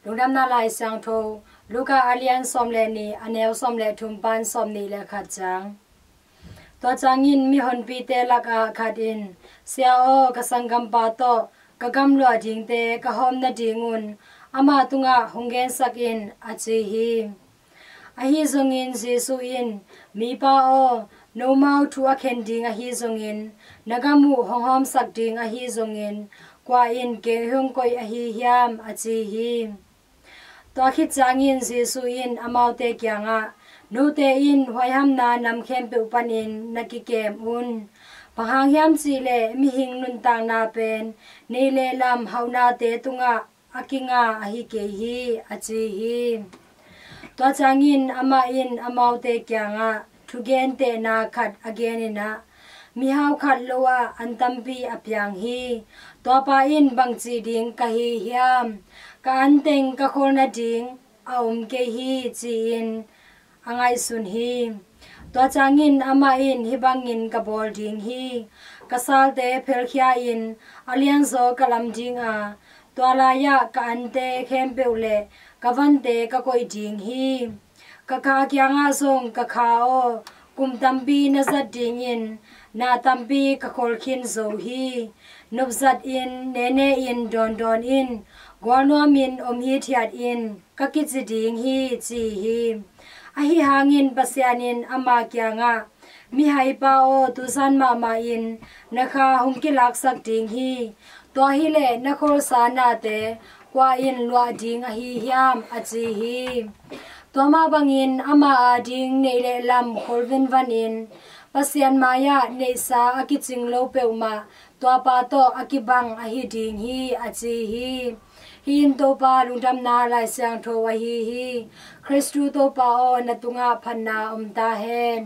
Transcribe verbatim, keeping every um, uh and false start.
Lungdamna Lai Siangtho, Luka a lian sawm le nih, a neu sawm le thum pan sawm nih le khat ciang. Tua ciangin mihonpite lakah khat in, "Sia aw, ka sanggampa tawh ka gamluah dingte ka hawm nadingun amah tungah hong gensak in," a ci hi. Ahi zongin Jesuh in, "Mipa aw, nomau thu a khen ding ahi zongin, na gam uh hong hawmsak ding ahi zongin, kua in kei hong koih ahi hiam?" a ci hi. Tua khit ciangin Jesuh in amaute kiangah, "Note in huaihamna nam khempeuh panin na kikem un. Bang hang hiam cih leh mihing nuntakna pen neih le lam hauhnate tungah a kinga ahi kei hi," a ci hi. Tua ciangin amah in amaute kiangah thugentehna khat a genin ah, "Mihau khat lo ah an tampi a piang hi. Tuapa in bangci ding ka hi hiam? Ka an teng ka khol nading a om kei hi," ci-in a ngaihsun hi. Tua ciangin amah in, "Hih bangin ka bawl ding hi. Ka salte phelkhia-in a lianzaw ka lam ding a, tua lai-ah ka ante khempeuh le ka vante ka koih ding hi. Ka kha kiangah zong, 'Ka kha aw, kum tampi na zat dingin na tampi ka khol khin zo hi. Nopzatin, nene-in, dawndawn in, gualnuamin om hithiat in, ka kici ding hi,' ci hi. Ahi hangin Pasian in ama kiangah, 'Mihaipa aw, tuzan mahmah in na kha hong kilaksak ding hi. Tua hileh na kholsa nate kua in luah ding ahi hiam?' a ci hi. Tua mah bangin ama ading neih le lam khol venvanin Pasian mai-ah neihsa a kicing lo peuhmah tuapa tawh a kibang ahi ding hi, a ci hi. Hih in Topa lungdamna Lai Siangtho ahi hi. Khristu Topa aw, na tungah phatna om ta hen.